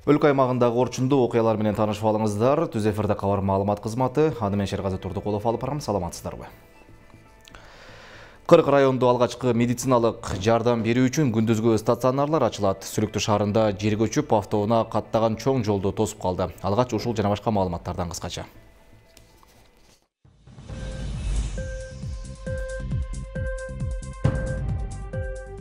Өлкө аймагындагы орчундуу окуялар менен таанышып алыңыздар. Түз эфирде кабар маалымат кызматы. Аны мен Шергази Турдукулов алып барам. Саламатсыздарбы? 40 райондо алгачкы медициналык жардам берүү үчүн күндүзгү стационарлар ачылат. Сүлүктүү шаарында жер көчүп, автоунаа каттаган чоң жолду тосуп калды. Алгач ушул жана башка маалыматтардан кыскача.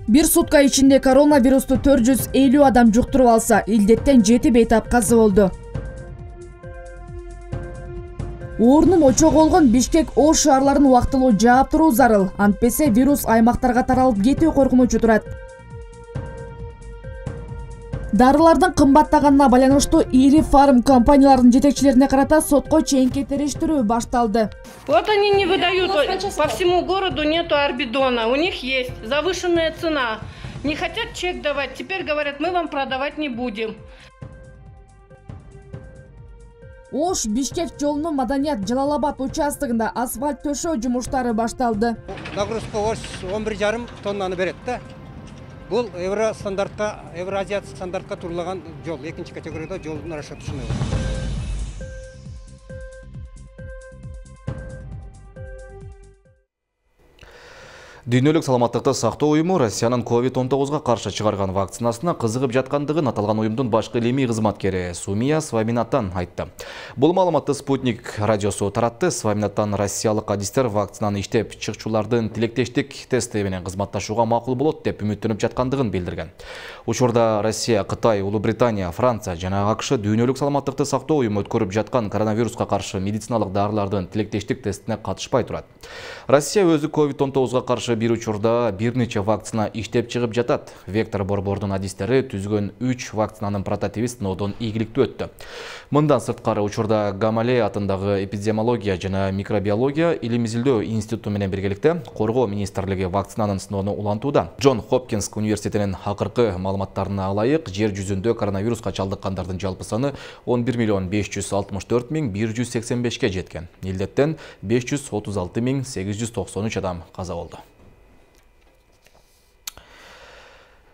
Бир сутка ичинде коронавирусту 450 адам жуктуруп алса, илдеттен 7 бейтап каза болду. Оорунун очогу болгон Бишкек, Ош шаарларын убактылуу жаап туруу зарыл. Антпесе вирус аймактарга таралып кетүү коркунучу турат. Дарылардын кымбаттаганына байланыштуу ири фарм компанияларынын жетекчилерине карата сотко чейинки териштирүү башталды. Вот они не выдают, по всему городу нету орбидона, у них есть завышенная цена. Не хотят чек давать, теперь говорят, мы вам продавать не будем. Ош Бишкек жолунун Маданият Жалалабад участогунда асфальт төшөө жумуштары башталды. Нагрузка Ош 11,5 тоннаны берет да. Бул Евразиялык стандартка турулаган жол, экинчи категорияда жолдун расчетушуна. Дүйнөлүк саламаттыкты сактоо уюму Россиянын COVID-19 каршы чыгарган вакцинасына кызыгып жаткандыгын аталган уюмдун башкы илимий кызматкери Сумия Сваминаттан айтты. Бул маалыматты Спутник радиосу таратты. Сваминаттан россиялык адистер вакцинаны иштеп чыкчулардын тилектештик тести менен кызматташууга макул болот деп үмүттөнүп жаткандыгын билдирген. Учурда Россия, Кытай, Улуу Британия, Франция жана АКШ дүйнөлүк саламаттыкты сактоо уюму өткөрүп жаткан коронавируска каршы медициналык дарылардын тилектештик тестине катышпай турат. Россия өзү COVID-19 каршы бир учурда бир нече вакцина иштеп чыгып жатат. Вектор Борбордун адистери түзгөн 3 вакцинанын прототиби сыноодон ийгиликтүү өттү. Мындан сырткары учурда Гамалей атындагы эпидемиология жана микробиология илим изилдөө институту менен биргеликте коргоо министрлиги вакцинанын сыноону улантууда. Джон Хопкинс университетинин акыркы маалыматтарына ылайык, жер жүзүндө коронавируска чалдыккандардын жалпы саны 11,564,185 жеткен. Илдеттен 536,893 адам каза болду.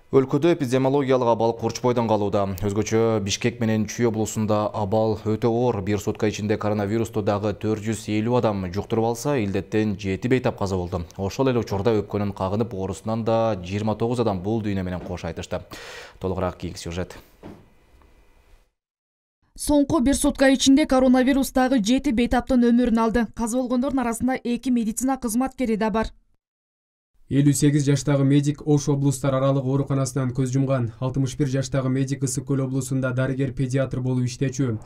Өлкөдө эпидемиологиялык абал курчпойдон калууда. Өзгөчө Бишкек менен Чүй облусунда абал өтө оор. Бир сутка ичинде коронавирусту дагы 450 адам жуктуруп алса, илдеттен 7 бейтап каза болду. Ошол эле учурда өпкөнүн кагынып оорусунан да 29 адам бул дүйнө менен кош айтышты. Толугураак кийинки сюжет. Соңку бир сутка ичинде коронавирус дагы 7 бейтаптын өмүрүн алды. Каза болгондордун арасында 2 медицина кызматкери да бар. 58 жаштагы медик Ош облустар аралык ооруканасынан көз жумган. 61 жаштагы медик Ысык көл облусунда дарыгер-педиатр болуп иштечү.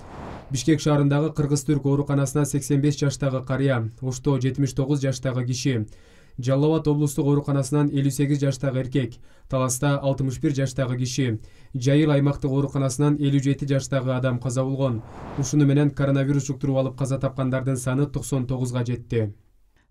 Бишкек шаарындагы Кыргыз-Түрк ооруканасына 85 жаштагы карыя, Ошто 79 жаштагы киши. Жалал-Абад облустук ооруканасынан 58 жаштагы эркек, Таласта 61 жаштагы киши. Жайыл аймактык ооруканасынан 57 жаштагы адам каза болгон. Ушуну менен коронавирус жуктуруп алып каза тапкандардын саны 99га жетти.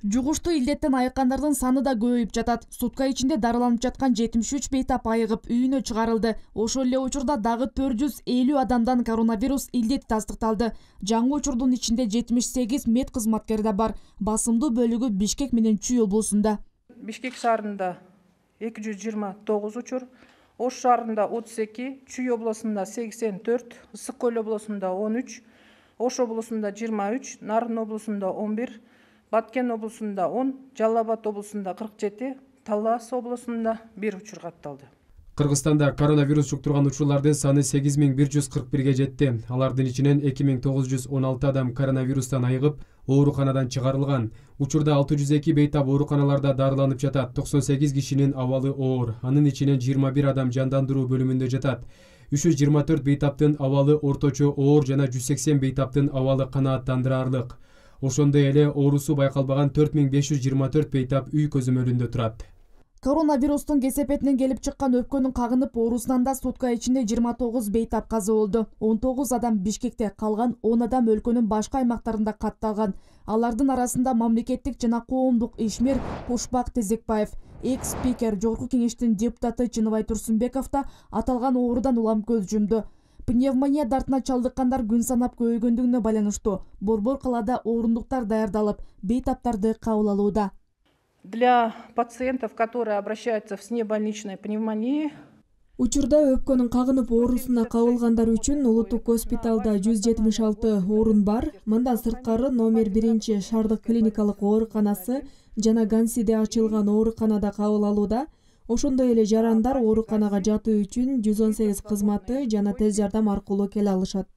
Жугуштуу илдеттен айыккандардын саны да көбөйүп жатат. Сутка ичинде дарыланып жаткан 73 бейтап айыгып үйүнө чыгарылды. Ошол эле учурда дагы 450 адамдан коронавирус илдет тастыкталды. Жаңы учурдун ичинде 78 мед кызматкери да бар. Басымдуу бөлүгү Бишкек менен Чүй облусунда. Бишкек шаарында 229 учур, Ош шаарында 32, Чүй облусунда 84, Ысык көл облусунда 13, Ош облусунда 23, Нарын облусунда 11, Баткен облусунда 10, Жалал-Абад облусунда 47, Талас облусунда 1 учур катталды. Кыргызстанда коронавирус жуктурган учурлардын саны 8141ге жетти. Алардын ичинен 2916 адам коронавирустан айыгып, ооруканадан чыгарылган. Учурда 602 бейтап ооруканаларда дарыланып жатат. 98 кишинин абалы оор. Анын ичинен 21 адам жандандыруу бөлүмүндө жатат. 324 бейтаптын абалы орточо оор жана 180 бейтаптын абалы канааттандыраарлык. Ошондой эле оорусу байкалбаган 4524 бейтап үй көзөмөлүндө турат. Коронавирустун кесепетинен келип чыккан өпкөнүн кагынып оорусунан да сутка ичинде 29 бейтап каза болду. 19 адам Бишкекте, калган 10 адам өлкөнүн башка аймактарында катталган. Алардын арасында мамлекеттик жана коомдук ишмер Кушбак Тезекбаев, экс-спикер Жогорку кеңештин депутаты Чыныбай Турсунбеков да аталган оорудан улам көз жумду. Пневмония дартына чалдыккандар күн санап көбөйгөндүгүнө байланыштуу Борбор калаада орундуктар даярдалып, бейтаптарды кабыл алууда. Для пациентов, которые обращаются с небольничной пневмонией, Учурда өпкөнүн кагынып оорусуна кабылгандар үчүн улуттук госпиталда 176 орун бар. Мындан сырткары номер 1 шаардык клиникалык ооруканасы жана Гансиде ачылган ооруканада кабыл алууда. Ошондой эле жарандар ооруканага жатуу үчүн 118 кызматы жана тез жардам аркылуу келе алышат.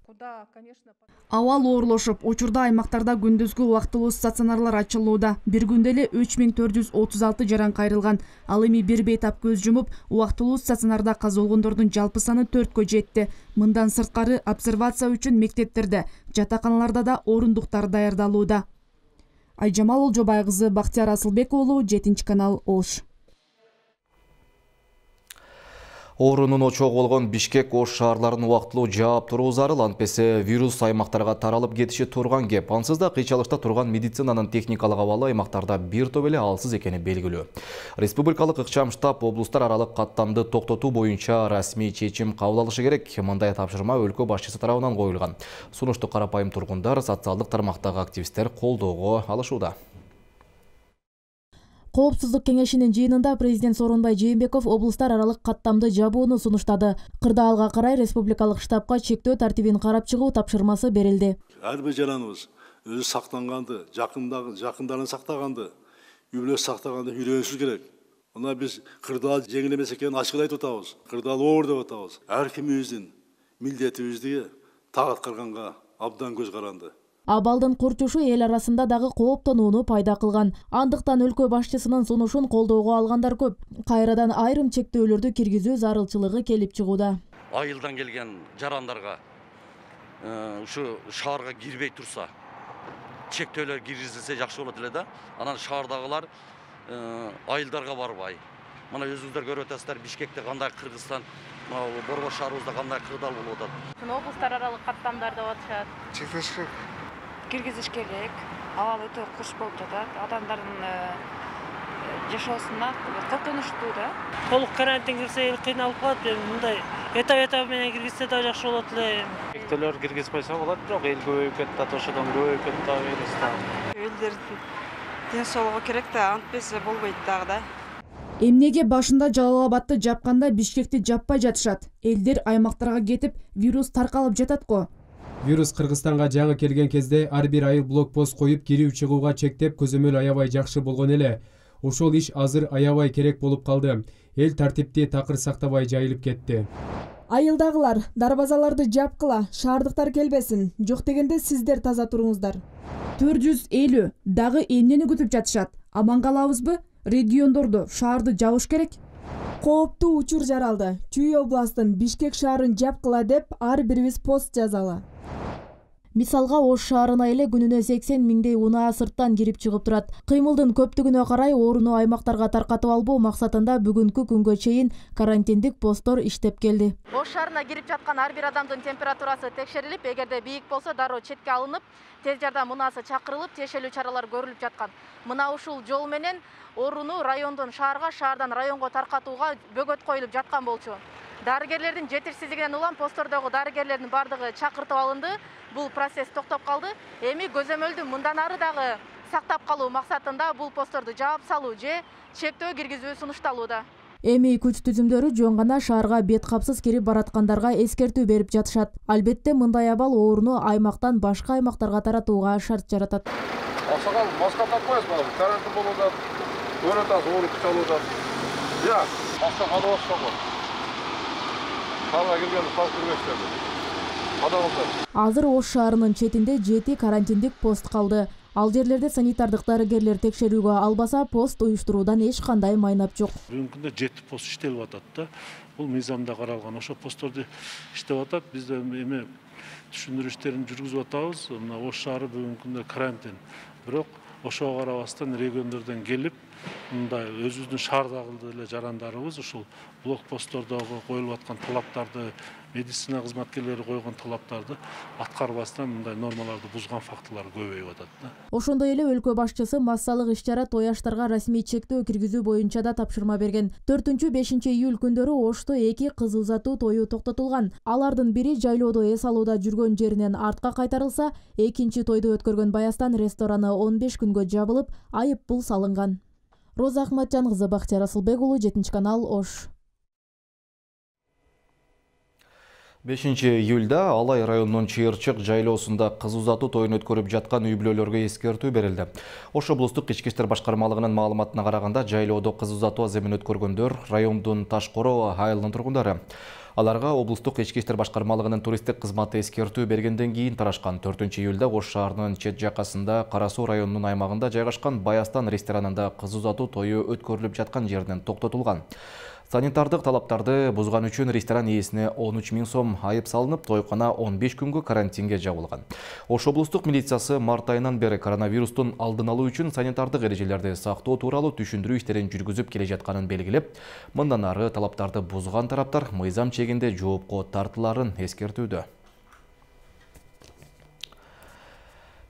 Абал оорлошуп, учурда аймактарда күндүзгү убактылуу стационарлар ачылууда. Бир күндө эле 3436 жаран кайрылган. Ал эми бир бейтап көз жумуп, убактылуу стационарда каза болгондордун жалпы саны 4кө жетти. Мындан сырткары обсервация үчүн мектептерде, жатаканаларда да орундуктар даярдалууда. Айжамал Олжобай кызы, Бактияр Асылбек уулу, 7 канал, Ош. Оорунун очогу болгон Бишкек, Ош шаарларын убактылуу жаап туруу зарыл, антпесе вирус аймактарга таралып кетиши турган кеп. Ансыз да кыйчалыкта турган медицинанын техникалык абалы аймактарда бир топ эле алсыз экени белгилүү. Республикалык ыкчам штаб облустар аралык каттамды токтотуу боюнча расмий чечим кабыл алышы керек. Мындай тапшырма өлкө башчысы тарабынан коюлган. Сунушту карапайым тургундар, социалдык тармактагы активисттер колдоого алышууда. Коопсуздук кеңешинин жыйынында президент Сооронбай Жээнбеков облустар аралык каттамды жабууну сунуштады. Кырдаалга карай республикалык штабка чектөө тартибин карап чыгуу тапшырмасы берилди. Ар бир жараныбыз өзү сактанганды, жакындарын сактаганды, үй бүлөсү сактаганды үйрөнүшү керек. Мына биз кырдаал жеңил эмес экенин ачык айтып атабыз. Кырдаал оор деп атабыз. Ар кимибиздин милдетибизди так аткарганга абдан көз каранды. Абалдын курчушу эл арасында дагы кооптонууну пайда кылган. Андыктан өлкө башчысынын сунушун колдоого алгандар көп. Кайрадан айрым чектөөлөрдү киргизүү зарылчылыгы келип чыгууда. Айылдан келген жарандарга ушу шаарга кирбей турса, чектөөлөр киргизилсе жакшы болот эле да. Анан шаардагылар айылдарга барбай. Мына өзүңүздөр көрүп атасыздар, Бишкекте кандай Кыргызстан, Борбор шаарыбызда кандай кырдаал болуп атат. Облустар аралык каттамдар деп атышат. Киргизиш керек. Абал өтө куш болуп жатат. Адамдардын жашоосуна коркунучтуу да. Толук карантин кирсе эл кыйналып калат. Мындай этап менен киргизсе да жакшы болот эле. Чектөөлөр киргизбесе болот, бирок эл көбөйүп кетти, ошодон көбөйүп кетти вирустан. Элдердин ден соолугу керек да, антпесе болбойт дагы да. Эмнеге башында Жалал Абадты жапканда Бишкекти жаппай жатышат? Элдер аймактарга кетип, вирус таркалып жатат го. Вирус Кыргызстанга жаңы келген кезде ар бир айыл блокпост коюп кирүү чыгууга чектеп көзөмөл аябай жакшы болгон эле. Ошол иш азыр аябай керек болуп калды. Эл тартипти такыр сактабай жайылып кетти. Айылдагылар дарбазаларды жапкыла, шаардыктар келбесин. Жок дегенде сиздер таза туруңуздар. 450 дагы эмнени күтүп жатышат? Аман калабызбы? Региондорду, шаарды жабыш керек. Кооптуу учур жаралды. Чүй областын Бишкек шаарын жапкыла деп ар бирибиз пост жазалы. Мисалга Ош шаарына эле күнүнө 80 миңдей унаа сырттан кирип чыгып турат. Кыймылдын көптүгүнө карай ооруну аймактарга таркатып албоо максатында бүгүнкү күнгө чейин карантиндик посттор иштеп келди. Ош шаарына кирип жаткан ар бир адамдын температурасы текшерилип, эгерде бийик болсо дароо четке алынып, тез жардам унаасы чакырылып, тиешелүү чаралар көрүлүп жаткан. Мына ушул жол менен ооруну райондон шаарга, шаардан районго таркатууга бөгөт коюлуп жаткан болчу. Дарыгерлердин жетишсиздигинен улам посттордогу дарыгерлердин бардыгы чакыртып алынды. Бул процесс токтоп калды. Эми көзөмөлдү мындан ары дагы сактап калуу максатында бул постторду жаап салуу же чектөө киргизүү сунушталууда. Эми күч түзүмдөрү жөн гана шаарга бет капсыз кирип бараткандарга эскертүү берип жатышат. Албетте мындай абал ооруну аймактан башка аймактарга таратууга шарт жаратат. Аксакал, маска такпайсыз балам, карантин болуп атат. Көрүп атасыз, ооруп чалып атат. Я, маска кадабасыз го. Шаарга киргенди сак жүрбөйсүздөр. Азыр Ош шаарынын четинде 7 карантиндик пост калды. Ал жерлерде санитардык дарыгерлер текшерүүгө албаса, пост уюштуруудан эч кандай майнап жок. Бүгүнкү күндө 7 пост иштелип атат да. Бул мыйзамда каралган. Ошо постторду иштеп атат. Биз да эми түшүндүрүү иштерин жүргүзүп атабыз. Мына Ош шаары бүгүнкү күндө карантин. Бирок ошого карабастан региондордон келип, мындай өзүбүздүн шаардагы эле жарандарыбыз ушул блокпосттордогу коюлуп аткан талаптарды, медицина кызматкерлери койгон талаптарды аткарбастан мындай нормаларды бузган фактылар көбөйүп атат да. Ошондой эле өлкө башчысы массалык иш-чара тояштарга расмий чектөө киргизүү боюнча да тапшырма берген. 4-5 июль күндөрү Ошто 2 кыз узатуу тою токтотулган. Алардын бири жайлоодо эс алууда жүргөн жеринен артка кайтарылса, экинчи тойду өткөргөн Баястан рестораны 15 күнгө жабылып, айып пул салынган. Роза Ахматжан кызы, Бактияр Асылбек уулу, 7 канал, Ош. 5-июлда Алай районунун Чыйырчык жайлоосунда кыз узатуу тоюн өткөрүп жаткан үй бүлөлөргө эскертүү берилди. Ош облустук ички иштер башкармалыгынын маалыматына караганда, жайлоодо кыз узатуу аземин өткөргөндөр райондун Ташкоро айылынын тургундары. Аларга облустук ички иштер башкармалыгынын туристтик кызматы эскертүү бергенден кийин тарашкан. 4-июлда Ош шаарынын чет жакасында Кара Суу районунун аймагында жайгашкан Баястан ресторанында кыз узатуу тою өткөрүлүп жаткан жеринен токтотулган. Санитардык талаптарды бузган үчүн ресторан ээсине 13 000 сом айып салынып, тойкана 15 күнгө карантинге жабылган. Ош облустук милициясы март айынан бери коронавирустун алдын алуу үчүн санитардык эрежелерди сактоо тууралуу түшүндүрүү иштерин жүргүзүп келе жатканын белгилеп, мындан ары талаптарды бузган тараптар мыйзам чегинде жоопко тартыларын эскертүүдө.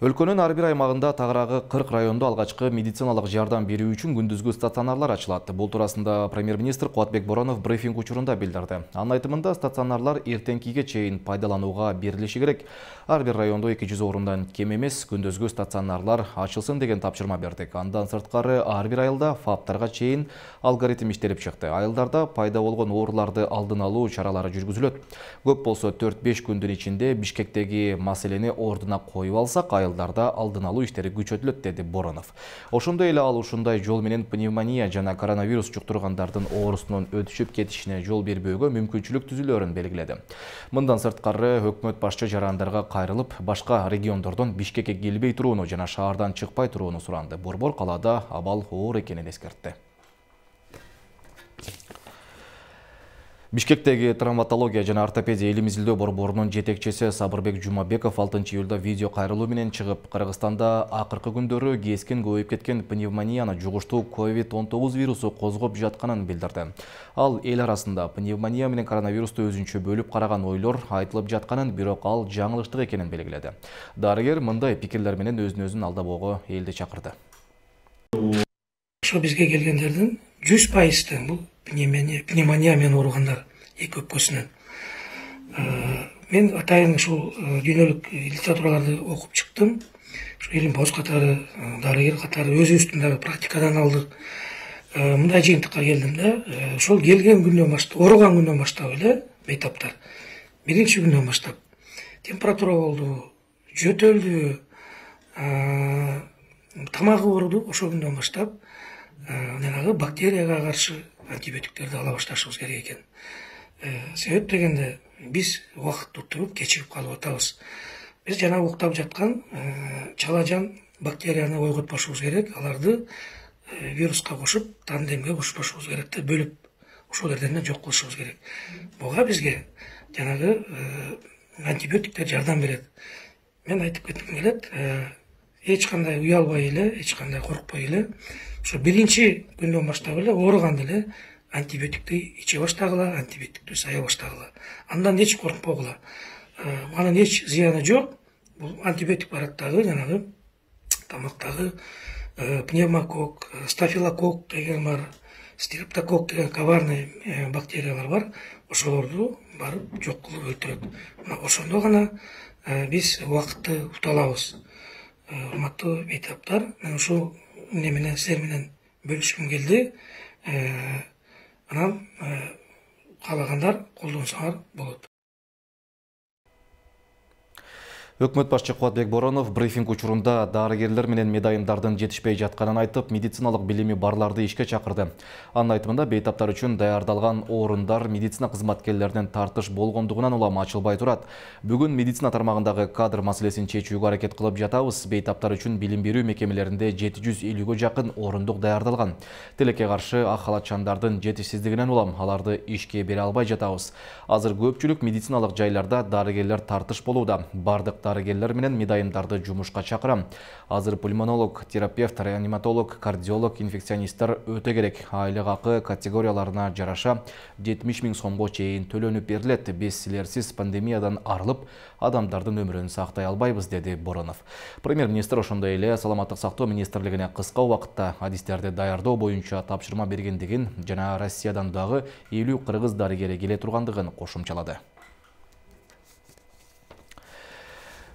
Өлкөнүн ар бир аймагында тагыраагы 40 райондо алгачкы медициналык жардам берүү үчүн күндүзгү стационарлар ачылат. Бул туурасында премьер-министр Кубатбек Боронов брифинг учурунда билдирди. Анын айтымында стационарлар эртеңкиге чейин пайдаланууга берилиши керек. Ар бир райондо 200 орундан кем эмес күндүзгү стационарлар ачылсын деген тапшырма бердик. Андан сырткары ар бир айылда фаптарга чейин алгоритм иштелип чыкты. Айылдарда пайда болгон ооруларды алдын алуу чаралары жүргүзүлөт. Көп болсо 4-5 күндүн ичинде Бишкектеги маселени ордуна коюп алсак, айылдарда алдын алуу иштери күчөтүлөт, деди Боронов. Ошондой эле ал ушундай жол менен пневмония жана коронавирус жуктургандардын оорусунун өтүшүп кетишине жол бербөөгө мүмкүнчүлүк түзүлөөрүн белгиледи. Мындан сырткары өкмөт башчы жарандарга кайрылып, башка региондордон Бишкекке келбей турууну жана шаардан чыкпай турууну суранды. Борбор калаада абал оор экенин эскертти. Бишкектеги травматология жана ортопедия илим изилдөө борборунун жетекчиси Сабырбек Жумабеков 6-июлда видео кайрылуу менен чыгып, Кыргызстанда акыркы күндөрү кескен көбөйүп кеткен пневмонияны жугуштуу COVID-19 вирусу козгоп жатканын билдирди. Ал эл арасында пневмония менен коронавирусту өзүнчө бөлүп караган ойлор айтылып жатканын, бирок ал жаңылыштык экенин белгиледи. Дарыгер мындай пикирлер менен өзүн алдабоого элди чакырды. Ошо бизге келгендердин 100% бул пневмония менен ооругандар эки өпкөсүнөн. Мен атайын ушул дүйнөлүк литератураларды окуп чыктым. Ушу илим боз катары, дарыгер катары өзүбүздүн дагы практикадан алдык. Мындай жыйынтыкка келдим да, ошол келген күндөн баштап, ооруган күндөн баштап эле бейтаптар. Биринчи күндөн баштап температура болду, жөтөлдү, тамагы ооруду. Ошол күндөн баштап жанагы бактерияга каршы антибиотиктерди ала башташыбыз керек экен. Себеп дегенде биз убакытты утуруп кечигип калып атабыз. Биз жана уктап жаткан чалажан бактерияны ойготпошубуз керек, аларды вируска кошуп, тандемге кошпошубуз керек да, бөлүп ошол жерден жок кылышыбыз керек. Буга бизге жанагы антибиотиктер жардам берет. Мен айтып кетким келет, эч кандай уялбай эле, эч кандай коркпой эле, ошо биринчи күндөн баштап эле ооруганда эле антибиотикти иче баштагыла, антибиотикти сая баштагыла. Андан эч коркпогула. Анын эч зыяны жок. Бул антибиотик барат дагы жанагы тамактагы пневмокок, стафилокок деген бар, стрептокок деген коварный бактериялар бар. Ошолорду барып жок кылып өлтүрөт. Мына ошондо гана биз убакытты ута алабыз. Урматтуу бейтаптар, мен ушул эмне менен силер менен бөлүшкүм келди. Анан каалагандар колдонсоңор болот. Өкмөт башчы Кубатбек Боронов брифинг учурунда дарыгерлер менен медайымдардын жетишпей жатканын айтып, медициналык билими барларды ишке чакырды. Анын айтымында бейтаптар үчүн даярдалган орундар медицина кызматкерлеринен тартыш болгондугунан улам ачылбай турат. Бүгүн медицина тармагындагы кадр маселесин чечүүгө аракет кылып жатабыз. Бейтаптар үчүн билим берүү мекемелеринде 750гө жакын орундук даярдалган. Тилекке каршы ак халатчандардын жетишсиздигинен улам аларды ишке бере албай жатабыз. Азыр көпчүлүк медициналык жайларда дарыгерлер тартыш болууда. Бардык дарыгерлер менен медайымдарды жумушка чакырам. Азыр пульмонолог, терапевт, реаниматолог, кардиолог, инфекционисттер өтө керек. Айлык акы категорияларына жараша 70 000 сомго чейин төлөнүп берилет. Биз силерсиз пандемиядан арылып, адамдардын өмүрүн сактай албайбыз, деди Боронов. Премьер-министр ошондой эле Саламаттык сактоо министрлигине кыска убакытта адистерди даярдоо боюнча тапшырма бергендигин жана Россиядан дагы 50 кыргыз дарыгери келе тургандыгын кошумчалады.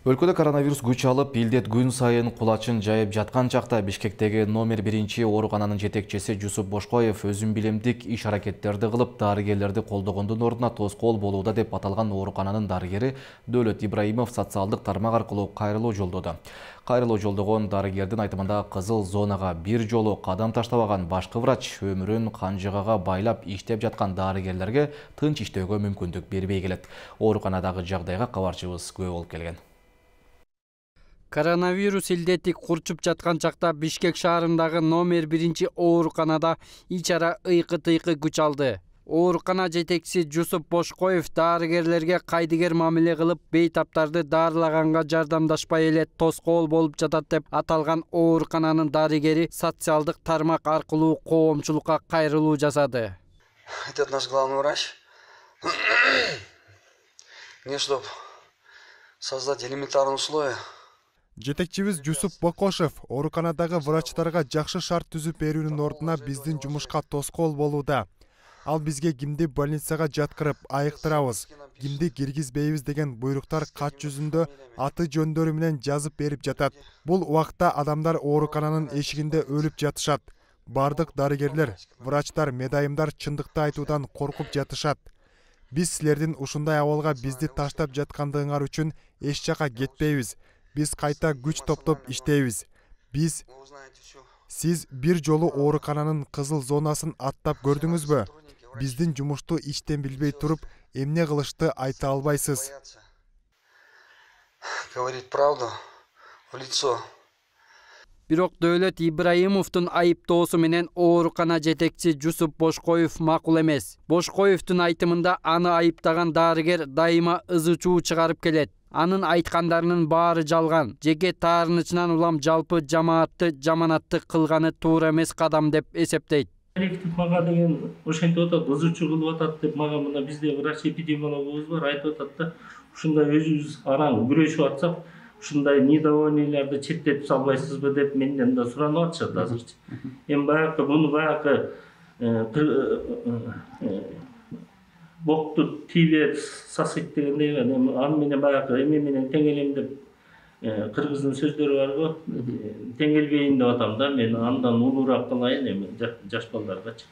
Өлкөдө коронавирус күч алып, илдет күн сайын кулачын жайып жаткан чакта Бишкектеги номер 1 оорукананын жетекчиси Жусуп Бошкоев өзүн билемдик иш аракеттерди кылып, дарыгерлерди колдогондун ордуна тоскоол болууда деп аталган оорукананын дарыгери Дөөлөт Ибраимов социалдык тармак аркылуу кайрылуу жолдоду. Кайрылуу жолдогон дарыгердин айтымында кызыл зонага бир жолу кадам таштабаган башкы врач өмүрүн канжыгага байлап иштеп жаткан дарыгерлерге тынч иштөөгө мүмкүндүк бербей келет. Ооруканадагы жагдайга кабарчыбыз күбө болуп келген. Коронавирус илдети курчуп жаткан чакта Бишкек шаарындагы номер 1 ооруканада ичара ыйкы-тыйкы күч алды. Оорукана жетекчиси Жусуп Бошкоев дарыгерлерге кайдыгер мамиле кылып, бейтаптарды дарылаганга жардамдашпай эле тоскоол болуп жатат деп аталган оорукананын дарыгери социалдык тармак аркылуу коомчулукка кайрылуу жасады. Этот наш главный врач не чтоб создать элементарные условия. Жетекчибиз Жусуп Бокошев ооруканадагы врачтарга жакшы шарт түзүп берүүнүн ордуна биздин жумушка тоскоол болууда. Ал бизге кимди больницага жаткырып айыктырабыз, кимди киргизбейбиз деген буйруктар кат жүзүндө аты жөндөрү менен жазып берип жатат. Бул убакта адамдар оорукананын эшигинде өлүп жатышат. Бардык дарыгерлер, врачтар, медайымдар чындыкты айтуудан коркуп жатышат. Биз силердин ушундай абалга бизди таштап жаткандыгыңар үчүн эч жака кетпейбиз. Биз кайта күч топтоп иштейбиз. Сиз бир жолу оорукананын кызыл зонасын аттап көрдүңүзбү? Биздин жумушту иштен билбей туруп, эмне кылышты айта албайсыз. Говорит правду в лицо. Бирок Дөөлөт Ибраимовдун айыптоосу менен оорукана жетекчиси Жусуп Бошкоев макул эмес. Бошкоевдун айтымында аны айыптаган дарыгер дайыма ызы чуу чыгарып келет. Анын айткандарынын баары жалган. Жеке таарынычынан улам жалпы жамаатты жаманатты кылганы туура эмес кадам деп эсептейт. Коллектив мага деген ошентип атат, ызы чуу кылып атат деп мага мына бизде врач эпидемиологубуз бар, айтып атат да, ушундай өзүбүз араң күрөшүп атсак, ушундай недовольныйларды четтетип салбайсызбы деп менден да суранып атышат азырчы. Эми баягы муну баягы бокту тийбе сасыйт дегендей, аны менен баягы эме менен теңелем деп кыргыздын сөздөрү барго, теңелбейин деп атам да, мен андан улуураак кылайын эми жаш балдаргачы.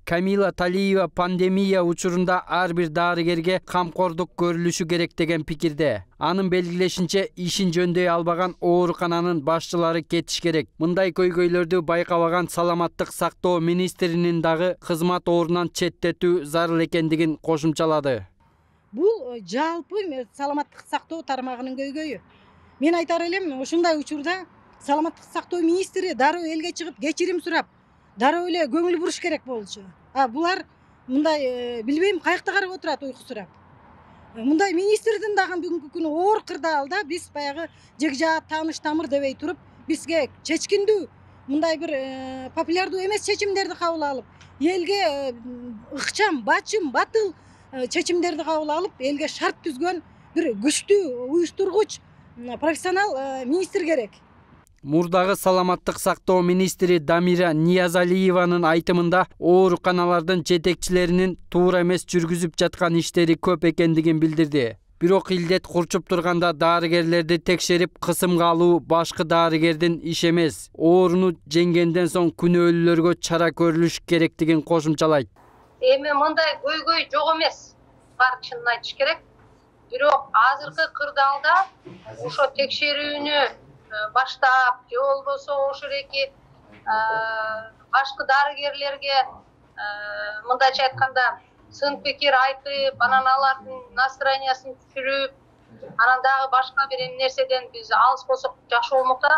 Камила Талиева пандемия учурунда ар бир дарыгерге камкордук көрүлүшү керек деген пикирде. Анын белгилешинче, ишин жөндөй албаган оорукананын башчылары кетиш керек. Мындай көйгөйлөрдү байкабаган саламаттык сактоо министринин дагы кызмат ордунан четтетүү зарыл экендигин кошумчалады. Бул жалпы саламаттык сактоо тармагынын көйгөйү. Мен айтар элем, ушундай учурда саламаттык сактоо министри дароо элге чыгып кечирим сурап, дароо эле көңүл буруш керек болчу. Булар мындай билбейм каякта карап отурат уйкусурап. Мындай министрдин дагы бүгүнкү күнү оор кырдаалда биз баягы жекжаат тааныш тамыр дебей туруп, бизге чечкиндүү мындай бир популярдуу эмес чечимдерди кабыл алып, элге ыкчам, бачым, батыл чечимдерди кабыл алып, элге шарт түзгөн бир күчтүү уюштургуч профессионал министр керек. Мурдагы саламаттык сактоо министри Дамира Ниязалиеванын айтымында ооруканалардын жетекчилеринин туура эмес жүргүзүп жаткан иштери көп экендигин билдирди. Бирок илдет курчуп турганда дарыгерлерди текшерип кысымга алуу башкы дарыгердин иши эмес. Ооруну жеңгенден соң күнөөлүүлөргө чара көрүлүш керектигин кошумчалайт. Эми мындай көйгөй жок эмес. Бар чынын айтыш керек. Бирок азыркы кырдаалда ошо текшерүүнү баштап, же болбосо ошол эки башкы дарыгерлерге мындайча айтканда сын пикир айтып, анан алардын настроениясын түшүрүп, анан дагы башка бир нерседен биз алыс болсок жакшы болмок да.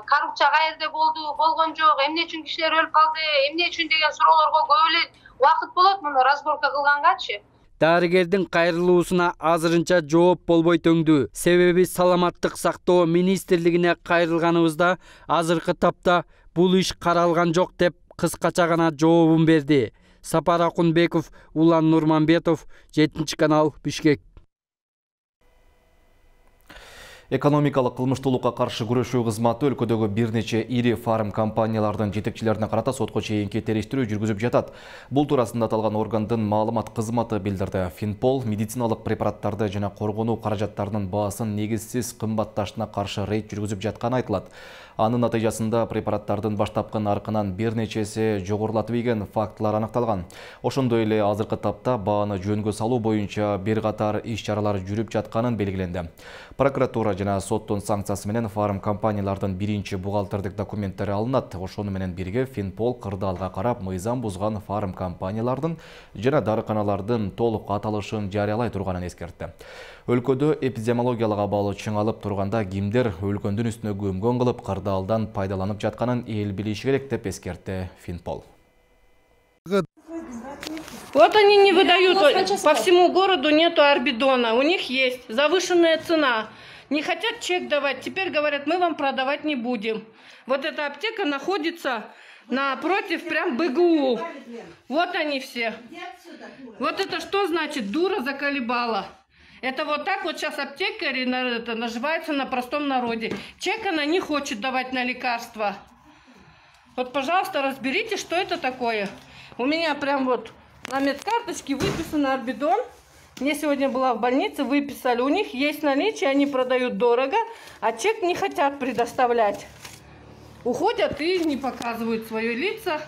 Коррупция каерде болду, болгон жок, эмне үчүн кишилер өлүп калды, эмне үчүн деген суроолорго көп эле убакыт болот муну разборка кылгангачы. Дарыгердин кайрылуусуна азырынча жооп болбой төңдү. Себеби саламаттык сактоо министрлигине кайрылганыбызда азыркы тапта бул иш каралган жок деп кыскача гана жообун берди. Сапар Акунбеков, Улан Нурманбетов, 7 канал, Бишкек. Экономикалык кылмыштуулукка каршы күрөшүү кызматы өлкөдөгү бир нече ири фарм компаниялардын жетекчилерине карата сотко чейинки териштирүү жүргүзүп жатат. Бул туурасында аталган органдын маалымат кызматы билдирди. Финпол медициналык препараттарды жана коргонуу каражаттарынын баасын негизсиз кымбатташына каршы рейд жүргүзүп жатканы айтылат. Анын натыйжасында препараттардын баштапкы наркынан бир нечеси жогорулатып ийген фактылар аныкталган. Ошондой эле азыркы тапта бааны жөнгө салуу боюнча бир катар иш-чаралар жүрүп жатканын белгиленди. Прокуратура жана соттун санкциясы менен фарм компаниялардын биринчи бухгалтердик документтери алынат. Ошону менен бирге Финпол кырдаалга карап мыйзам бузган фарм компаниялардын жана дарыканалардын толук аталышын жарыялай турганын эскертти. Өлкөдө эпидемиологиялык абал чыңалып турганда кимдер өлкөндүн үстүнө көмгөн кылып кырдаалдан пайдаланып жатканын эл билиши керек деп эскертти Финпол. Вот они не выдают, по всему городу нету орбидона, у них есть завышенная цена. Не хотят чек давать, теперь говорят, мы вам продавать не будем. Вот эта аптека находится напротив прям БГУ. Вот они все. Вот это что значит дура заколебала? Это вот так вот сейчас аптекари наживаются на простом народе. Чек она не хочет давать на лекарства. Вот, пожалуйста, разберите, что это такое. У меня прям вот на медкарточке выписан орбидон. Я сегодня была в больнице, выписали. У них есть наличие, они продают дорого, а чек не хотят предоставлять. Уходят и не показывают свои лица.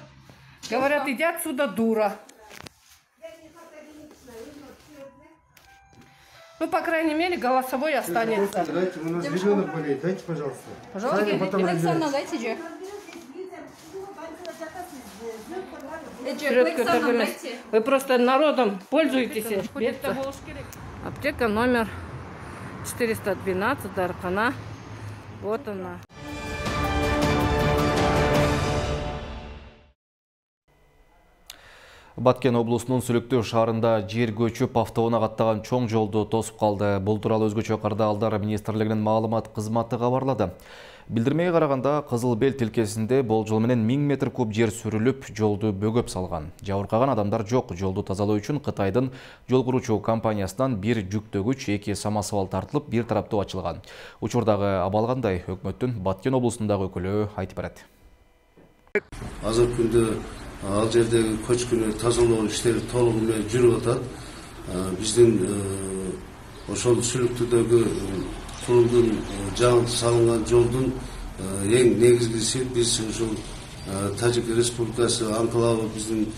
Говорят, иди отсюда, дура. Ну, по крайней мере, голосовой останется. Дайте, у нас ребенок болеет, дайте, пожалуйста. Пожалуйста. Дайте же. Вы просто народом пользуетесь. Аптека номер 412, Даркана. Вот она. Баткен облусунун Сүлүктүү шаарында жер көчүп автоунаа каттаган чоң жолду тосуп калды. Бул тууралуу өзгөчө Кырдаалдар министрлигинин маалымат кызматы кабарлады. Билдирмеге караганда Кызыл Бел тилкесинде болжол менен 1000 метр куб жер сүрүлүп, жолду бөгөп салган. Жабыркаган адамдар жок. Жолду тазалоо үчүн Кытайдын жол куручу компаниясынан бир жүктөгүч, 2 самосвал тартылып, бир тараптуу ачылган. Учурдагы абал кандай? Өкмөттүн Баткен облусундагы өкүлү айтып берет. Азыркы күндө ал жердеги көчкүнү тазалоо иштери толугу менен жүрүп атат. Биздин ошол Сүлүктүүдөгү курулдун жаңы салынган жолдун эң негизгиси биз ушул Тажик Республикасы анклавы биздин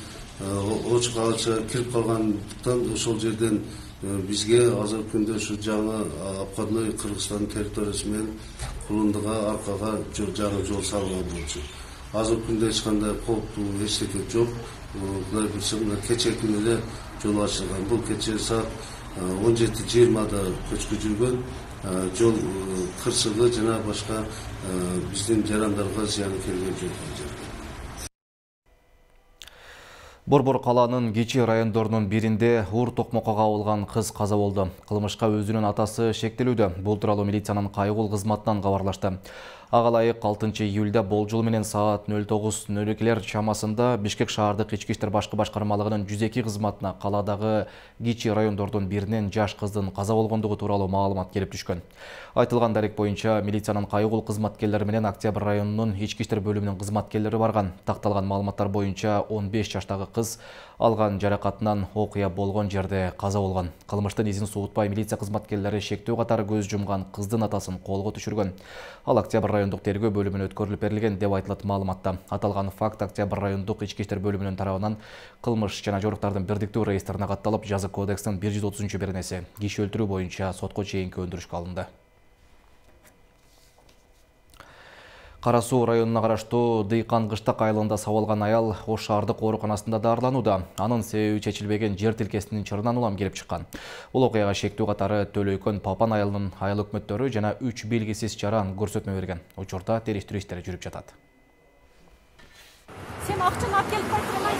оч калача кирип калгандыктан ошол жерден бизге азыркы күндө ушу жаңы обходной Кыргызстан территориясы менен Кулундуга аркага жаңы жол салынган болчу. Азыркы күндө эч кандай кооптуу эчтеке жок. Кудай буйрса кечээ күнү эле жол ачылган. Бул кечээ саат 17:20 көчкү жүргөн. Жол кырсыгы жана башка биздин жарандарга зыяны келген жок. Борбор калаанын кичи райондорунун биринде уур токмокко кабылган кыз каза болду. Кылмышка өзүнүн атасы шектелүүдө. Бул тууралуу милициянын кайгыл кызматынан кабарлашты. Ага ылайык 6 июлда болжол менен саат 09:02 чамасында Бишкек шаардык ички иштер башкы башкармалыгынын 102 кызматына каладагы кичи райондордун биринен жаш кыздын каза болгондугу тууралуу маалымат келип түшкөн. Айтылган дарек боюнча милициянын кайгыл кызматкерлери менен Октябрь районунун ички иштер бөлүмүнүн кызматкерлери барган. Такталган маалыматтар боюнча 15 жаштагы кыз алган жаракатынан окуя болгон жерде каза болгон. Кылмыштын изин суутпай милиция кызматкерлери шектөө катары көз жумган кыздын атасын колго түшүргөн. Ал Октябрь райондук тергөө бөлүмүнө өткөрүлүп берилген деп айтылат маалыматта. Аталган факт Октябрь райондук ички иштер бөлүмүнүн тарабынан кылмыш жана жоруктардын бирдиктүү реестрине катталып, жаза кодекстин 130-беренеси киши өлтүрүү боюнча сотко чейинки өндүрүшкө алынды. Кара Суу районуна караштуу Дыйкан Кыштак айылында сабалган аял Ош шаардык ооруканасында дарыланууда. Анын себеби чечилбеген жер тилкесинин чырынан улам келип чыккан. Бул окуяга шектүү катары Төлөйкөн Папан айылынын айыл өкмөттөрү жана 3 белгисиз жаран көрсөтмө берген. Учурда териштирүү иштери жүрүп жатат. Сен акчаны алып келип кайткандан.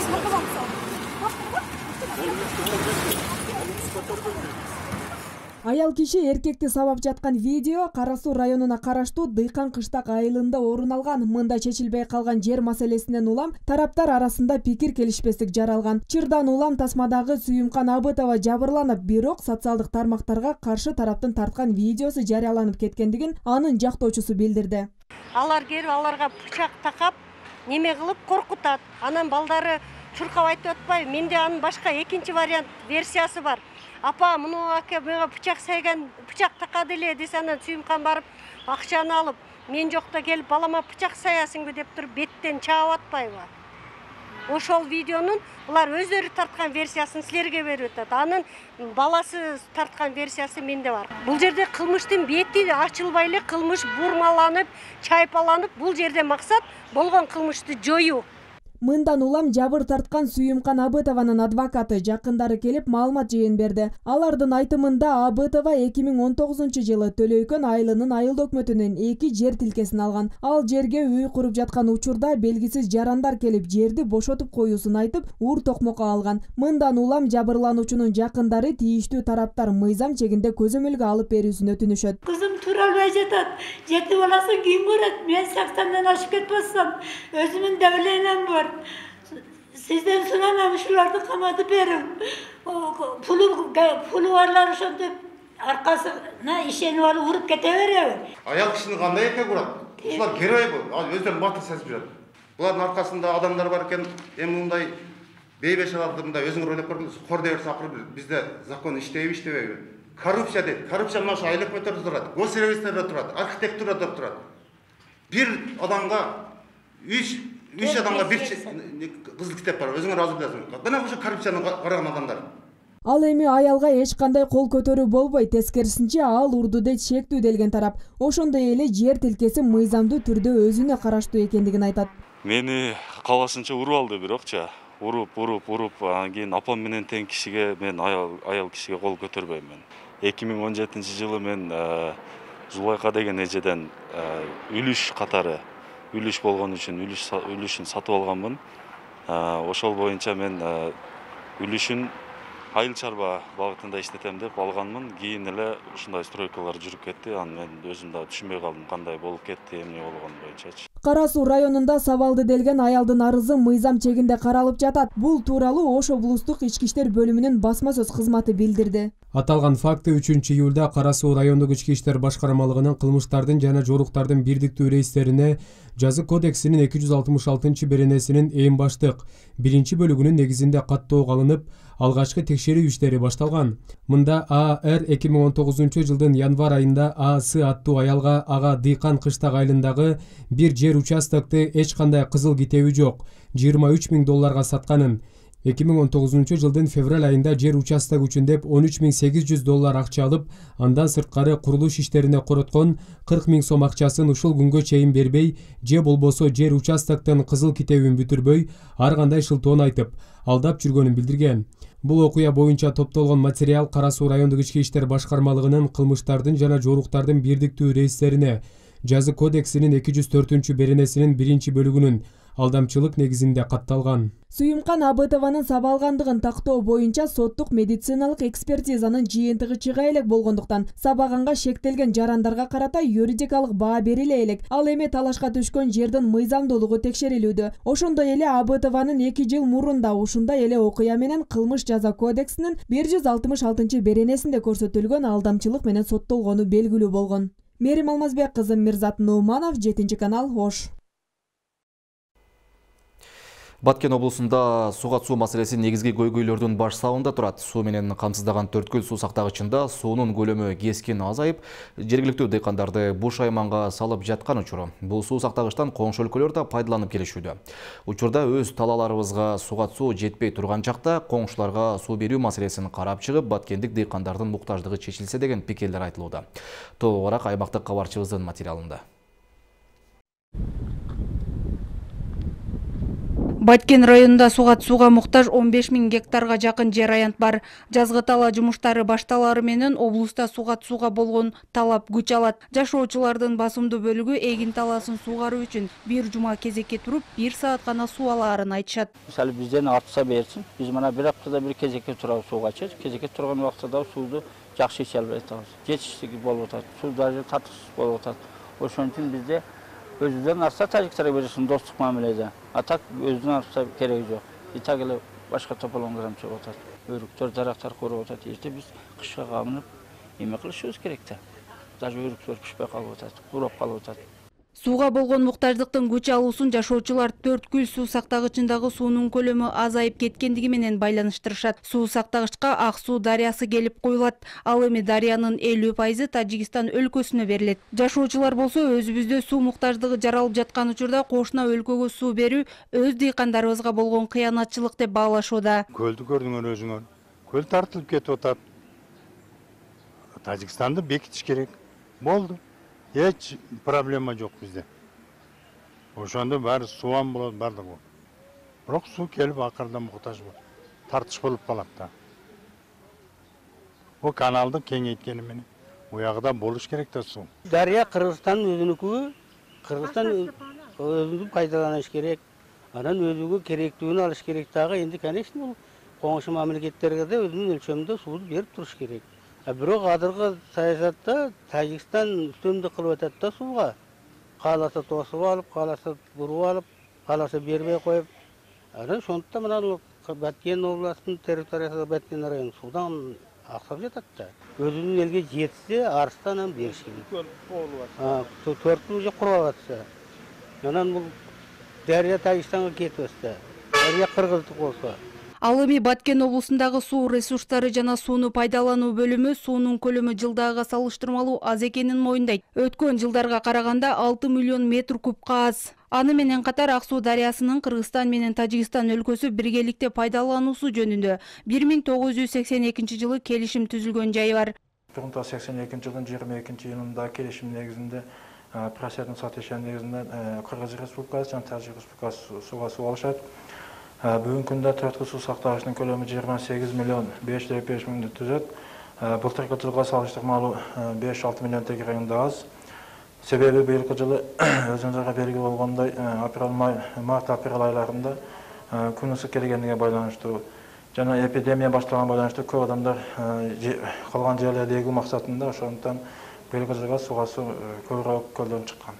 Аял киши эркекти сабап жаткан видео Кара Суу районуна караштуу Дыйкан кыштак айылында орун алган. Мында чечилбей калган жер маселесинен улам тараптар арасында пикир келишпестик жаралган. Чырдан улам тасмадагы Сүйүмкан Абытова жабырланып, бирок социалдык тармактарга каршы тараптын тарткан видеосу жарыяланып кеткендигин анын жактоочусу билдирди. Алар келип аларга бычак такап, неме кылып коркутат. Анан балдары чуркап айтып атпайбы? Менде анын башка экинчи вариант версиясы бар. Апа, муну аке мага бычак сайган, бычак такады эле десе, анан Сүйүмкан барып акчаны алып, мен жокто келип балама бычак саясыңбы деп туруп беттен чаап атпайбы? Ошол видеонун булар өздөрү тарткан версиясын силерге берип атат. Анын баласы тарткан версиясы менде бар. Бул жерде кылмыштын бети ачылбай эле кылмыш бурмаланып, чайпаланып, бул жерде максат болгон кылмышты жоюу. Мындан улам жабыр тарткан Сүйүмкан Абытованын адвокаты жакындары келип маалымат жыйын берди. Алардын айтымында Абытова 2019 жылы Төлөйкөн айылынын айыл өкмөтүнөн 2 жер тилкесин алган. Ал жерге үй куруп жаткан учурда белгисиз жарандар келип жерди бошотуп коюусун айтып, ур токмокко алган. Мындан улам жабырлануучунун жакындары тийиштүү тараптар мыйзам чегинде көзөмөлгө алып берүүсүн өтүнүшөт. Кызым тура албай жатат. 7 баласын кийин көрөт. Мен 80-ден ашып кетип атсам, өзүмдүн давлением бар. Sizden sunamam şulardı kamadı berim. Pulu varlar ошентип arkasına işeni alıp vurup keteveriyor. Аял кишини кандай экен курат? Ушулар герой бу. Өздөрүн батыр сезип жүрөт. Булардын аркасында адамдар бар экен. Эми мындай бейбеш абалда өзүңөр ойлоп көрүңүз. Кор деп чакырып bizde закон иштейби, иштебейби? Коррупция дейт. Коррупция мына айыл өкмөттөрдө турат. Госсервистерде турат, архитектурада турат. Бир адамга 3 адамга бир кызыл китеп бар. Өзүңөр азыр билесиңер. Мына ошо коррупцияны караган адамдар. Ал эми аялга эч кандай кол көтөрүү болбой, тескерисинче ал урдуде чектүүделген тарап. Ошондой эле жер тилкеси мыйзамдуу түрдө өзүнө караштуу экендигин айтат. Мени калашынча уруп алды бирокчу. Уруп, анан кийин апам менен тең кишиге мен аял кишиге кол көтөрбөйм. 2017-жылы мен Зулайка деген эжеден үлүш катары үлүш болгон үчүн үлүшүн сатып алганмын. Ошол боюнча мен үлүшүн айыл чарба багытында иштетем деп алганмын. Кийин эле ушундай стройкалар жүрүп кетти. Анан мен өзүм да түшүнбөй калдым кандай болуп кетти, эмне болгон боюнчачы. Кара Суу районунда сабалды делген аялдын арызы мыйзам чегинде каралып жатат. Бул тууралуу Ош облустук ички иштер бөлүмүнүн басма сөз кызматы билдирди. Аталган факты 3-июлда Кара Суу райондук ички иштер башкармалыгынын кылмыштардын жана жоруктардын бирдиктүү рейстерине Жазы кодексинин 266-беренесинин эң баштык 1-бөлүгүнүн негизинде каттоого алынып, алгачкы текшерүү иштери башталган. Мында АР 2019 жылдын январь айында АС аттуу аялга ага Дыйкан кыштак айылындагы бир жер участокты эч кандай кызыл китеби жок, $23 000 сатканын. 2019 жылдын февраль айында жер участок үчүн деп $13.800 акча алып, андан сырткары курулуш иштерине короткон 40 000 сом акчасын ушул күнгө чейин бербей, же болбосо жер участоктон кызыл китебин бүтүрбөй, ар кандай шылтоон айтып, алдап жүргөнүн билдирген. Бул окуя боюнча топтолгон материал Кара Суу райондук ички иштер башкармалыгынын кылмыштардын жана жоруктардын бирдиктүү рейстерине Жазы кодексинин 204-беренесинин 1-бөлүгүнүн алдамчылык негизинде катталган. Сүйүмкан Абытованын сабалгандыгын тактоо боюнча соттук медициналык экспертизанын жыйынтыгы чыга элек болгондуктан сабаганга шектелген жарандарга карата юридикалык баа бериле элек. Ал эми талашка түшкөн жердин мыйзамдуулугу текшерилүүдө. Ошондой эле Абытованын 2 жыл мурун да ушундай эле окуя менен кылмыш жаза кодексинин 166-беренесинде көрсөтүлгөн алдамчылык менен соттолгону белгилүү болгон. Мерим Алмазбек кызы, Мирзат Нууманов, 7-канал, Ош. Баткен облусунда суга суу маселеси негизги көйгөйлөрдүн баш сабында турат. Суу менен камсыздаган Төрткүл суу сактагычында суунун көлөмү кескин азайып, жергиликтүү дыйкандарды буш айманга салып жаткан учуру. Бул суу сактагычтан коңшу өлкөлөр да пайдаланып келишүүдө. Учурда өз талааларыбызга суга суу жетпей турган чакта коңшуларга суу берүү маселесин карап чыгып, баткендик дыйкандардын муктаждыгы чечилсе деген пикирлер айтылууда. Толугураак аймактык кабарчыбыздын материалында. Баткен районунда суга муктаж 15 000 гектарга жакын жер аянт бар. Жазгы тала жумуштары башталары менен облуста суга болгон талап күч алат. Жашоочулардын басымдуу бөлүгү эгин таласын сугаруу үчүн бир жума кезекке туруп, 1 саат гана суу алаарын айтышат. Мисалы бизден артса берсин, биз мына бир аптада бир кезекке турабыз сугачы. Кезекке турган убакта да сууду жакшы иче албай атабыз. Жетиштиги болуп атат, суу даже татык болуп атат. Ошон үчүн бизде өзүдөн арса тажиктарга бересин достук мамиледе. А так өзүдөн арса кереги жок. И так эле башка тополоңдорам чыгып атат. Өрүктөр, дарактар куруп атат. Эрте биз кышка камынып эме кылышыбыз керек да. Даже өрүктөр пишпей калып атат, курап калып атат. Сууга болгон муктаждыктын күч алуусун жашоочулар Төрткүл суу сактагычындагы суунун көлөмү азайып кеткендиги менен байланыштырышат. Суу сактагычка Ак Суу дарыясы келип куюлат. Ал эми дарыянын 50% Тажикстан өлкөсүнө берилет. Жашоочулар болсо өзүбүздө суу муктаждыгы жаралып жаткан учурда кошуна өлкөгө суу берүү өз дыйкандарыбызга болгон кыянатчылык деп баалашууда. Көлдү көрдүңөр өзүңөр. Көл тартылып кетип атат. Тажикстанды бекитиш керек. Болду. Эч проблема жок бизде. Ошондо баары суан болот, бардыгы. Бирок суу келип акырда муктаж болот. Тартыш болуп калат да. Бул каналды кеңейткени менен уягыда болуш керек да суу. Дарыя Кыргызстандын өзүнүкү, Кыргызстан өзүн пайдаланыш керек. Анан өзүгө керектүүнү алыш керек дагы. Энди конечно бул коңшу мамлекеттерге да өзүнүн өлчөмүндө сууду берип туруш керек. Бирок азыркы саясатта Тажикстан үстөмдүк кылып атат да сууга. Кааласа тосуп алып, кааласа буруп алып, кааласа бербей коюп. Анан ошондуктан мына Баткен областынын территориясы Баткен району суудан аксап жатат да. Өзүнүн элге жетсе, арстанан бериш керек. 4 жыл же куруп атса. Анан бул Дарыя Тажикстанга кетип атса, Дарыя Кыргыздык болсо. Ал эми Баткен облусундагы суу ресурстары жана сууну пайдалануу бөлүмү суунун көлөмү жылдагыга салыштырмалуу аз экенин моюндайт. Өткөн жылдарга караганда 6 миллион метр кубка аз. Аны менен катар Ак Суу дарыясынын Кыргызстан менен Тажикстан өлкөсү биргеликте пайдалануусу жөнүндө 1982 жылы келишим түзүлгөн жайы бар. 1982 жылдын 22-июнунда келишим негизинде просердин сатышан негизинде Кыргыз Республикасы жана Тажик Республикасы сууга суу алышат. Бүгүнкү күндө Төрткүл суу сактагычтын көлөмү 28 миллион 505 миңди түзөт. Былтыркы жылга салыштырмалуу 5-6 миллион тегерегинде аз. Себеби быйылкы жылы өзүңүзгө белгилүү болгондой март-апрель айларында күн ысык келгендиге байланыштуу жана эпидемия башталган байланыштуу көп адамдар калган жерлерде эгүү максатында ошондуктан быйылкы жылга сууга суу көбүрөөк көлдөн чыккан.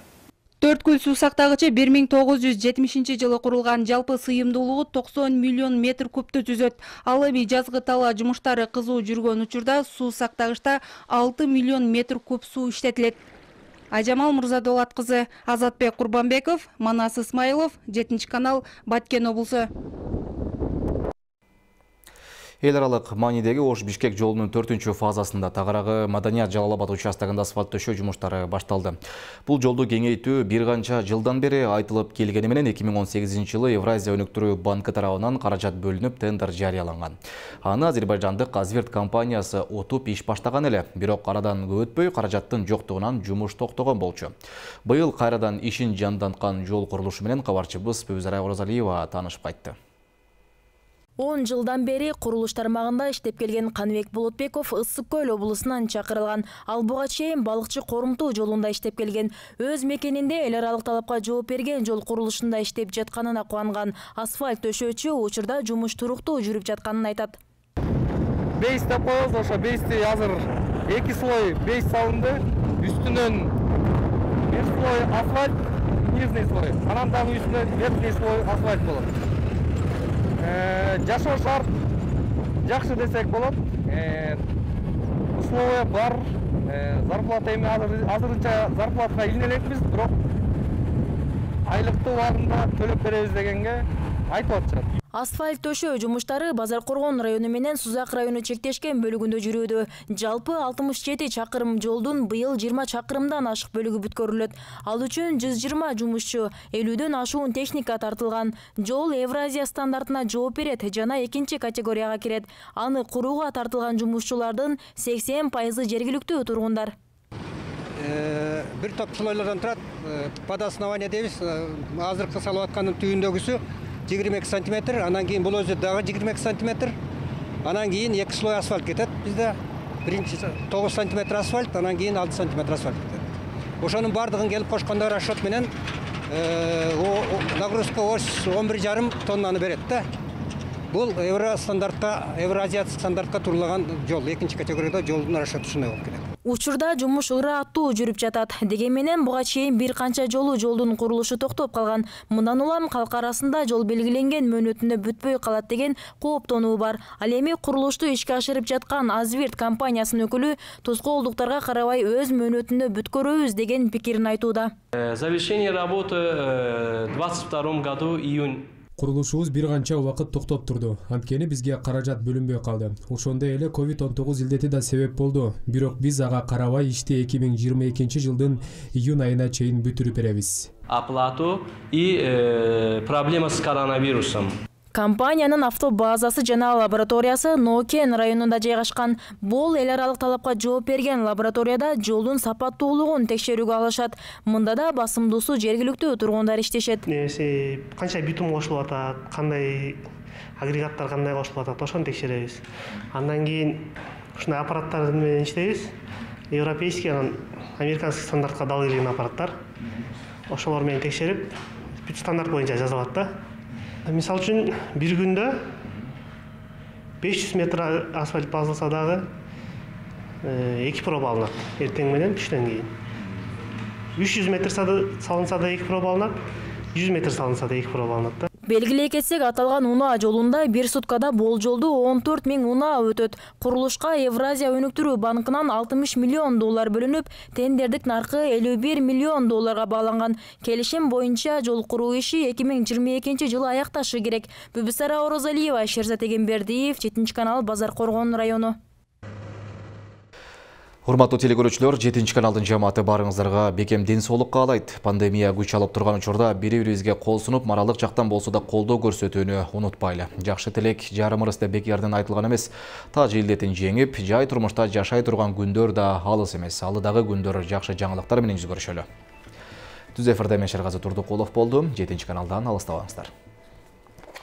Төрткүл суу сактагычы 1970 жылы курулган, жалпы сыйымдуулугу 90 миллион метр кубту түзөт. Ал эми жазгы тала жумуштары кызуу жүргөн учурда суу сактагычта 6 миллион метр куб суу иштетилет. Ажамал Мурзадолат кызы, Азатбек Курбанбеков, Манас Исмаилов, 7-канал, Баткен облусу. Эл аралык маанидеги Ош-Бишкек жолунун 4-фазасында тагыраагы Маданият Жалал-Абад участогунда асфальт төшөө жумуштары башталды. Бул жолду кеңейтүү бир канча жылдан бери айтылып келгени менен 2018 жылы Евразия өнүктүрүү банкы тарабынан каражат бөлүнүп, тендер жарыяланган. Аны азербайжандык Азверт компаниясы отуп иш баштаган эле, бирок арадан көп өтпөй каражаттын жоктугунан жумуш токтогон болчу. Быйыл кайрадан ишин жанданткан жол курулушу менен кабарчыбыз Пөбүзара Оразалиева таанышып кайтты. 10 жылдан бери курулуш тармагында иштеп келген Каныбек Болотбеков Ысык Көл облусунан чакырылган. Ал буга чейин балыкчы Корумтуу жолунда иштеп келген. Өз мекенинде эл аралык талапка жооп берген жол курулушунда иштеп жатканына кубанган. Асфальт төшөөчү учурда жумуш туруктуу жүрүп жатканын айтат. Бейс деп коебуз, ошо бейсти азыр 2 слой бейс салынды. Үстүнөн 1 слой асфальт, нижний слой. Анан дагы үстүнө верхний слой асфальт болот. Жашоо шарт жакшы десек болот. Условия бар. Зарплата эми азырынча зарплатага илине элекпиз, бирок айлыкты убагында төлөп беребиз дегенге айтып атышат. Асфальт төшөө жумуштары Базаркоргон району менен Сузак району чектешкен бөлүгүндө жүрүүдө. Жалпы 67 чакырым жолдун быйыл 20 чакырымдан ашык бөлүгү бүткөрүлөт. Ал үчүн 120 жумушчу, 50дөн ашуун техника тартылган. Жол Евразия стандартына жооп берет жана экинчи категорияга кирет. Аны курууга тартылган жумушчулардын 80% жергиликтүү тургундар. Бир топ слойлордон турат. Под основание дейбиз. Азыркы салып аткандын түйүндөгүсү 22 сантиметр, анан кийин бул өзү дагы 22 сантиметр. Анан кийин 2 слой асфальт кетет. Бизде биринчи 9 сантиметр асфальт, анан кийин 6 сантиметр асфальт кетет. Ошонун бардыгын келип кошкондо расчет менен нагрузка ось 11,5 тоннаны берет да. Бул евроазиатск стандартка турулаган жол, экинчи категорияда жолдун расчеты ушундай болуп келет. Учурда жумуш ыраттуу жүрүп жатат. Деген менен буга чейин бир канча жолдун курулушу токтоп калган. Мындан улам калк арасында жол белгиленген мөөнөтүндө бүтпөй калат деген кооптонуу бар. Ал эми курулушту ишке ашырып жаткан Азвирт компаниясынын өкүлү тоскоолдуктарга карабай өз мөөнөтүндө бүткөрөбүз деген пикирин айтууда. Завершение работы в 22 году июнь. Курулушубуз бир канча убакыт токтоп турду. Анткени бизге каражат бөлүнбөй калды. Ошондой эле COVID-19 илдети да себеп болду. Бирок биз ага карабай ишти 2022 жылдын июнь айына чейин бүтүрүп беребиз. Оплату и проблема с коронавирусом. Компаниянын автобазасы жана лабораториясы Нокен районунда жайгашкан. Бул эл аралык талапка жооп берген лабораторияда жолдун сапаттуулугун текшерүүгө алышат. Мында да басымдуусу жергиликтүү тургундар иштешет. Канча битум кошулуп атат, кандай агрегаттар кандай кошулуп атат, ошону текшеребиз. Андан кийин ушундай аппараттар менен иштейбиз. Европейский, анан американский стандартка дал келген аппараттар. Ошолор менен текшерип, бүт стандарт боюнча жазылат да. Мисал үчүн бир күндө 500 метр асфальт басылса дагы 2 проба алынат. Эртең менен түштөн кийин. 300 метр салынса да 2 проба алынат, 100 метр салынса да 2 проба алынат да. Белгилей кетсек, аталган унаа жолунда бир суткада болжолдуу 14 000 унаа өтөт. Курулушка Евразия өнүктүрүү банкынан 60 миллион доллар бөлүнүп, тендердик наркы 51 миллион долларга бааланган. Келишим боюнча жол куруу иши 2022 жылы аякташы керек. Бүбүсара Орозалиева, Шерзат Эгембердиев, 7 канал, Базар Коргон району. Урматтуу телекөрүүчүлөр, 7 каналдын жамааты барыңыздарга бекем ден соолук каалайт. Пандемия күч алып турган учурда бири-бирибизге кол сунуп, моралдык жактан болсо да колдоо көрсөтүүнү унутпайлы. Жакшы тилек жарымырыс деп бекерден айтылган эмес. Таж илдетин жеңип, жай турмушта жашай турган күндөр да алыс эмес. Алыдагы күндөр жакшы жаңылыктар менен жүз көрүшөлү. Түз эфирде мен Шергази Турдукулов болдум. 7 каналдан алыстабаңыздар.